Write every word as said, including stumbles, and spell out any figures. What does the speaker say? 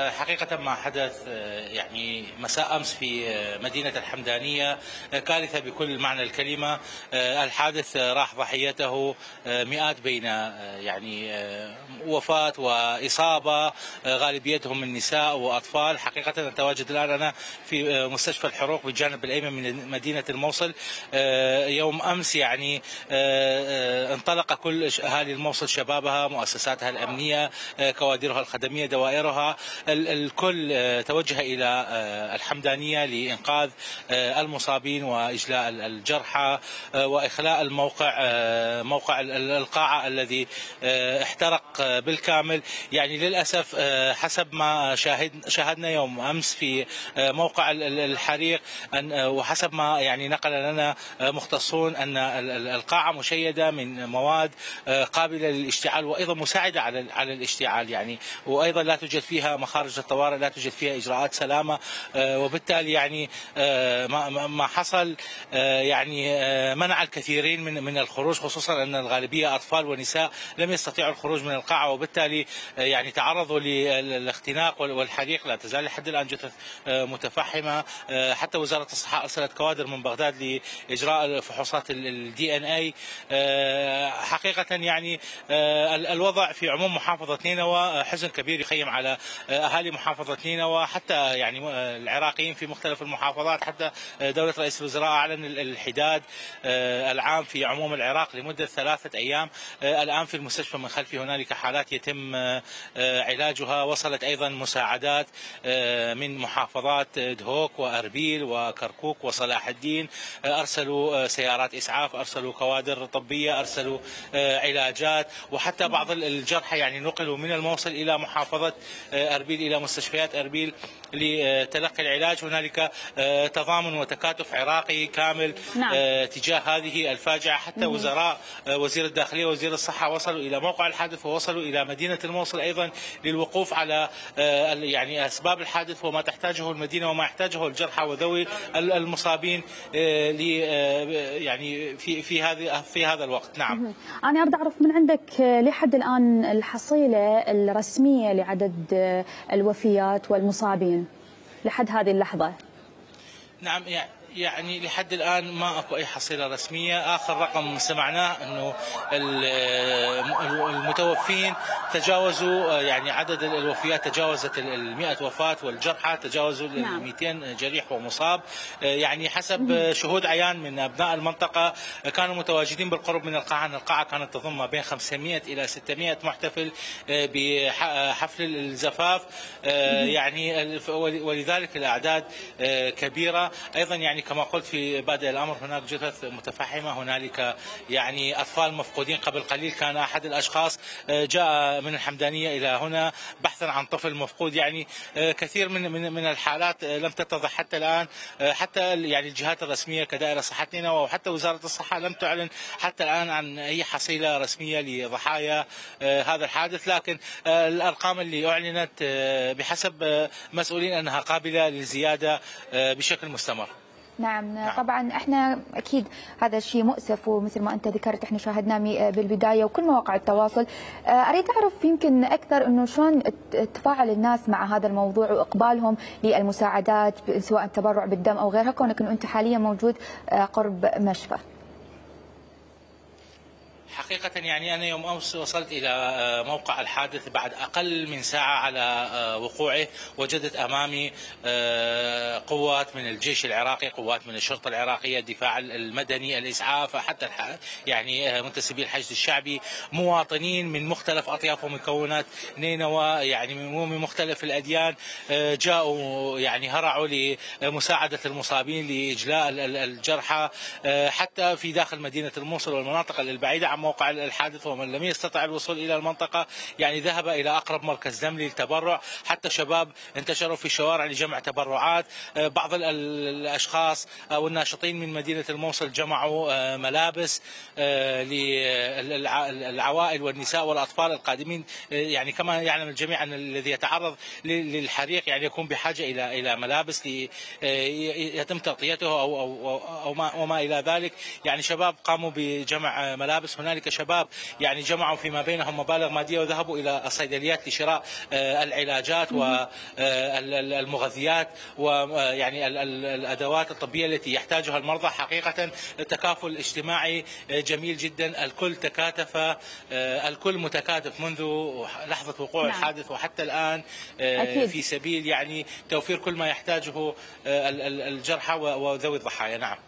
حقيقة ما حدث يعني مساء أمس في مدينة الحمدانية كارثة بكل معنى الكلمة. الحادث راح ضحيته مئات بين يعني وفاة وإصابة، غالبيتهم من نساء وأطفال. حقيقة أتواجد الآن أنا في مستشفى الحروق بالجانب الأيمن من مدينة الموصل. يوم أمس يعني انطلق كل أهالي الموصل، شبابها، مؤسساتها الأمنية، كوادرها الخدمية، دوائرها، الكل توجه إلى الحمدانية لإنقاذ المصابين وإجلاء الجرحى وإخلاء الموقع، موقع القاعة الذي احترق بالكامل. يعني للأسف حسب ما شاهد شاهدنا يوم أمس في موقع الحريق وحسب ما يعني نقل لنا مختصون أن القاعة مشيدة من مواد قابلة للاشتعال وأيضا مساعدة على على الاشتعال، يعني وأيضا لا توجد فيها مخارج الطوارئ، لا توجد فيها إجراءات سلامة، وبالتالي يعني ما حصل يعني منع الكثيرين من من الخروج، خصوصا أن الغالبية أطفال ونساء لم يستطيعوا الخروج من القاعة، وبالتالي يعني تعرضوا للاختناق والحريق. لا تزال لحد الآن جثث متفحمة. حتى وزارة الصحة أرسلت كوادر من بغداد لإجراء فحوصات الدي ان اي. حقيقة يعني الوضع في عموم محافظة نينوى حزن كبير يخيم على أهالي محافظة نينوى، حتى يعني العراقيين في مختلف المحافظات. حتى دولة رئيس الوزراء أعلن الحداد العام في عموم العراق لمدة ثلاثة أيام. الآن في المستشفى من خلفي هنالك حالات يتم علاجها. وصلت أيضا مساعدات من محافظات دهوك وأربيل وكركوك وصلاح الدين. أرسلوا سيارات إسعاف، أرسلوا كوادر طبية، أرسلوا علاجات، وحتى بعض الجرحى يعني نقلوا من الموصل إلى محافظة أربيل، إلى مستشفيات أربيل لتلقي العلاج. هنالك تضامن وتكاتف عراقي كامل نعم. تجاه هذه الفاجعة. حتى مم. وزراء وزير الداخلية ووزير الصحة وصلوا إلى موقع الحادث ووصلوا إلى مدينة الموصل أيضا للوقوف على يعني أسباب الحادث وما تحتاجه المدينة وما يحتاجه الجرحى وذوي المصابين يعني في في هذه في هذا الوقت. نعم. أنا أريد أعرف من عندك لحد الآن الحصيلة الرسمية لعدد الوفيات والمصابين لحد هذه اللحظة. نعم، يعني لحد الآن ما أكو أي حصيلة رسمية. آخر رقم سمعناه أنه المتوفين تجاوزوا، يعني عدد الوفيات تجاوزت المئة وفاة والجرحى تجاوزوا نعم. مئتين جريح ومصاب. يعني حسب شهود عيان من أبناء المنطقة كانوا متواجدين بالقرب من القاعة. القاعة كانت تضم ما بين خمسمئة إلى ستمئة محتفل بحفل الزفاف، يعني ولذلك الأعداد كبيرة. أيضا يعني كما قلت في بادئ الأمر هناك جثث متفحمة، هنالك يعني أطفال مفقودين. قبل قليل كان أحد الأشخاص جاء من الحمدانية إلى هنا بحثا عن طفل مفقود. يعني كثير من من من الحالات لم تتضح حتى الآن. حتى يعني الجهات الرسمية كدائرة صحة نينوى وحتى وزارة الصحة لم تعلن حتى الآن عن أي حصيلة رسمية لضحايا هذا الحادث. لكن الأرقام اللي أعلنت بحسب مسؤولين أنها قابلة للزيادة بشكل مستمر. نعم. نعم طبعا احنا اكيد هذا الشيء مؤسف، ومثل ما انت ذكرت احنا شاهدناه بالبدايه وكل مواقع التواصل. اريد اعرف يمكن اكثر انه شلون تفاعل الناس مع هذا الموضوع واقبالهم للمساعدات سواء التبرع بالدم او غيرها، كونك انه انت حاليا موجود قرب مشفى. حقيقة يعني أنا يوم أمس وصلت إلى موقع الحادث بعد أقل من ساعة على وقوعه. وجدت أمامي قوات من الجيش العراقي، قوات من الشرطة العراقية، الدفاع المدني، الإسعاف، حتى يعني منتسبي الحشد الشعبي، مواطنين من مختلف أطياف ومكونات نينوى، يعني من مختلف الأديان، جاءوا يعني هرعوا لمساعدة المصابين، لإجلاء الجرحى، حتى في داخل مدينة الموصل والمناطق البعيدة عن موقع الحادث. ومن لم يستطع الوصول إلى المنطقة يعني ذهب إلى أقرب مركز دم للتبرع. حتى شباب انتشروا في الشوارع لجمع تبرعات. بعض الأشخاص أو الناشطين من مدينة الموصل جمعوا ملابس للعوائل والنساء والأطفال القادمين. يعني كما يعلم الجميع أن الذي يتعرض للحريق يعني يكون بحاجة إلى إلى ملابس يتم تغطيته أو أو أو ما وما إلى ذلك. يعني شباب قاموا بجمع ملابس. هناك هنالك شباب يعني جمعوا فيما بينهم مبالغ ماديه وذهبوا الى الصيدليات لشراء العلاجات والمغذيات ويعني الادوات الطبيه التي يحتاجها المرضى. حقيقه التكافل الاجتماعي جميل جدا، الكل تكاتف، الكل متكاتف منذ لحظه وقوع نعم. الحادث وحتى الان أكيد. في سبيل يعني توفير كل ما يحتاجه الجرحى وذوي الضحايا. نعم.